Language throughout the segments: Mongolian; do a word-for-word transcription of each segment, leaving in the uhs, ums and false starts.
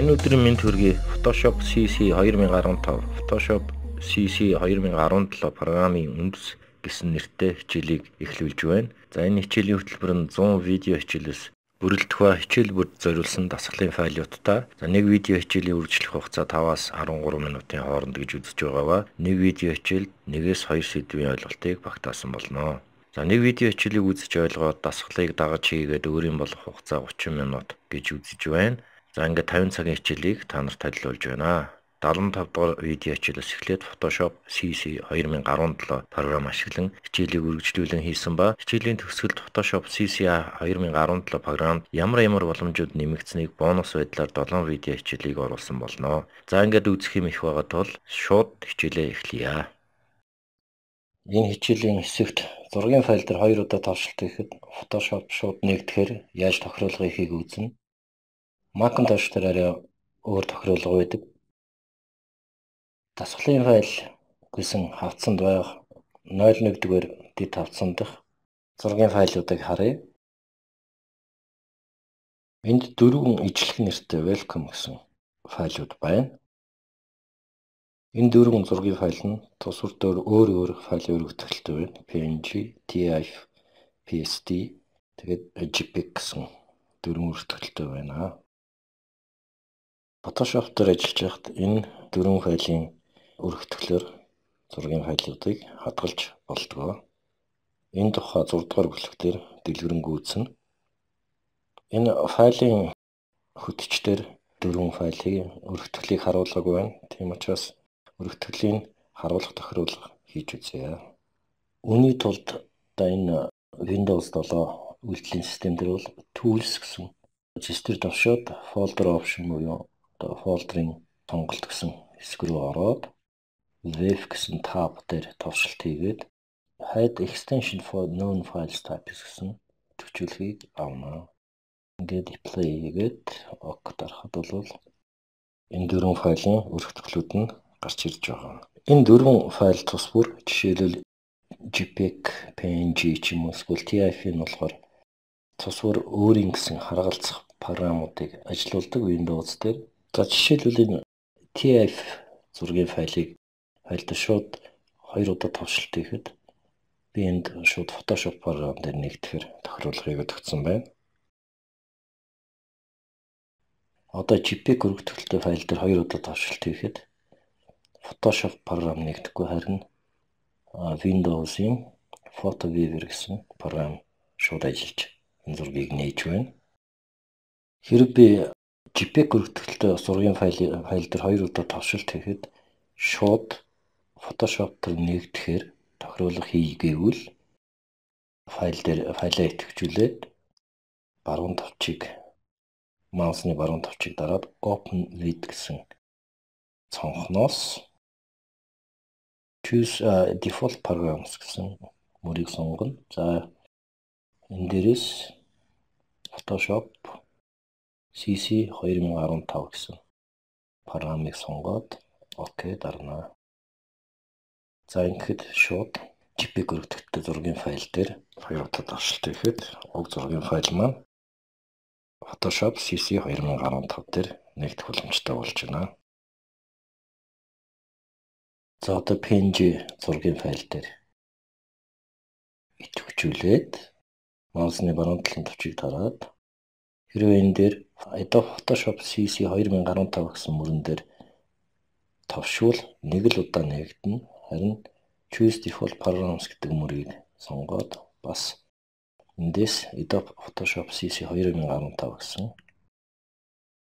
Энэ өдрийн мэнд хүргэе. Photoshop си си two thousand fifteen, Photoshop си си two thousand seventeen программын үндэс гэсэн нэртэй хичээлийг эхлүүлж байна. За энэ хичээлийн хөтөлбөр нь one hundred видео хичээлээс бүрэлдэх ба хичээл бүрд зориулсан дасгалын файлуудтай. За нэг видео хичээлийн үргэлжлэх хугацаа five-аас thirteen минутын хооронд гэж үзэж байгаа ба нэг видео хичээлд one-ээс two сэдвийн ойлголтыг багтаасан болно. За нэг видео хичээлийг үзэж ойлгоод дасгалыг дагаж хийгээд өөрийн болох хугацаа thirty минут гэж үзэж байна. За ингээд fifty цагийн хичээлийг та нарт танилцуулж байна. seventy-five дугаар видео хичээлээс эхлээд Photoshop си си two thousand seventeen програм ашиглан хичээлийг үргэлжлүүлэн хийсэн ба хичээлийн төгсгөлд Photoshop си си two thousand seventeen програмд ямар ямар боломжууд нэмэгдсэнийг бонус байдлаар seven видео хичээлийг оруулсан болно. За ингээд үзэх юм их байгаа тул шууд хичээлээ эхлэе. Энэ хичээлийн хэсэгт зургийн файл дээр хоёр удаа тавшилт хийхэд Photoshop шууд нэгдэхээр яаж тохируулгыг хийх үзнэ. Macintosh дээр арай өөр тохируулга байдаг. Дасгалын файл гэсэн хавцанд байх zero one дугаар дэд хавцан дах зургийн файлуудыг харъя. Энд дөрвөн ижлэх нэртэй welcome гэсэн файлууд байна. Энэ дөрвөн зургийн файл нь тус бүр өөр өөр файлын өргөтгөлтэй байна. пи эн жи, ти ай эф, пи эс ди, тэгээд JPEG гэсэн дөрвөн өргөтгөлтэй байна. Photoshop дээр ажиллаж байхад энэ дөрвөн файлын өргөтгөлөөр зургийн файлуудыг хадгалж болдог. Энэ тухай six дугаар бүлэгтэр дэлгэрэнгүй үзнэ. Энэ файлын хөтчдөр дөрвөн файлын өргөтгөлийг харуулаагүй байна. Тийм учраас өргөтгөлийн харуулах тохируулга хийж үзье. Үүний тулд одоо энэ Windows seven үйлдвэрлэлийн систем дээр бол Tools гэсэн зэстэр давшаад folder option буюу одоо фолдерын сонголт гэсэн хэсэг рүү ороод Wave гэсэн tab дээр товшилт хийгээд Hide extension for known files types гэсэн төвчүүлгийг авна. Ингээд apply хийгээд OK дарахад бол энэ дөрвөн файлын өргөтгөлүүд нь гарч ирж байгаа. Энэ дөрвөн файл тус бүр жишээлбэл JPEG, пи эн жи ч юм уу эсвэл ти ай эф нь болохоор тус бүр өөрийн гэсэн харгалзах програмуудыг ажилуулдаг Windows дээр. За жишээлбэл энэ ти ай эф зургийн файлыг файлд шууд хоёр удаа товшилт хийхэд би энд шууд Photoshop програм дээр нэгтгэхэр тохируулгыг өгсөн байна. Одоо JPEG өргөтгөлтэй файл дээр хоёр удаа товшилт хийхэд Photoshop програм нэгдэхгүй харин Windows-ийн Photo Viewer гэсэн програм шууд ажиллаж энэ зургийг нээж байна. Хэрэв би JPEG өргөтгөлтэй зургийн файл файл дээр хоёр удаа товшилт хийхэд шууд Photoshop дээр нэгдэхээр тохируулга хийгээвэл файл дээр файлаа идэвхжүүлээд баруун тавчийг маусны баруун тавчийг дараад Open with гэсэн цонхноос Choose uh, default programs гэсэн мөрийг сонгоно. За энэ дээрээс Photoshop си си two thousand fifteen гэсэн програмыг сонгоод OK дарна. За ингээд шууд JPEG өргөтгөлтэй зургийн файл дээр хоёр удаа давшилт хийхэд уг зургийн файл маань Photoshop си си two thousand fifteen дээр нэгдэх боломжтой болж байна. За одоо пи эн жи зургийн файл дээр идэвхжүүлээд маусны баруун талын төвчийг дараад хэрвээ энэ дээр Adobe Photoshop си си two thousand fifteen гэсэн мөрөн дээр товшвол нэг л удаа нэгдэнэ. Харин Choose Default Programs гэдэг мөрийг сонгоод бас эндээс Adobe Photoshop си си two thousand fifteen гэсэн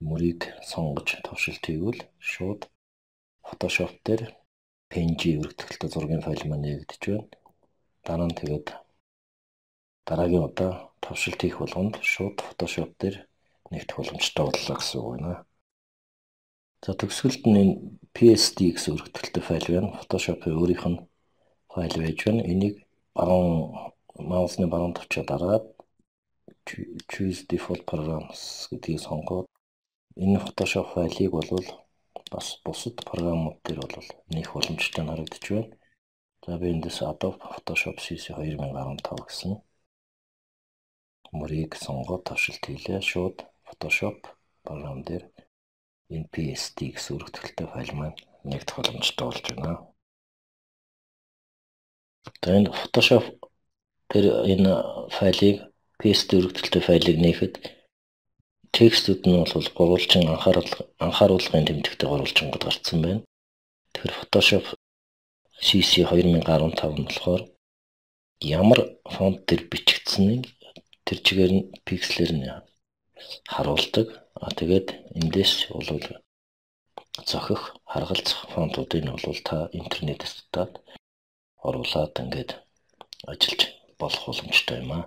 мөрийг сонгож товшилт хийвэл шууд Photoshop дээр пи эн жи өргөтгөлтэй зургийн файл маань нэгдэж байна. Дараа нь тэгээд дараагийн удаа товшилт хийх болгонд шууд Photoshop дээр нэгдэх боломжтой боллоо гэсэн үг байна. За төгсгөлд нь энэ пи эс ди гэсэн өргөтгөлтэй файл байна. Photoshop-ийн өөрийнх нь файл байж байна. Энийг баруун маусны баруун тавчаа дараад Choose Default Programs гэдгийг сонгоод энэ Photoshop файлыг бол бас бусад програмууд дээр бол нэх боломжтой харагдаж байна. За би эндээс Adobe Photoshop си си two thousand fifteen гэсэн мөрийг сонгоод товшилт хийлээ. Шууд Photoshop програм дээр энэ пи эс ди гэсэн өргөтгөлтэй файл маань нэгдэх боломжтой болж байна. Тэгээд энэ Photoshop тэр энэ файлыг пи эс ди өргөтгөлтэй файлыг нээхэд текстүүд нь бол гурвалжин анхаарал анхааруулгын тэмдэгтэй гурвалжингод гарцсан байна. Тэгэхээр Photoshop си си two thousand fifteen нь болохоор ямар фонт төр бичигдсэнийг тэр чигээр нь пикселэр нь харуулдаг. А тэгээд эндээс бол зохих, харгалзах фонтуудыг нь бол та интернетээс татаад оруулаад ингээд ажиллаж болох боломжтой юм аа.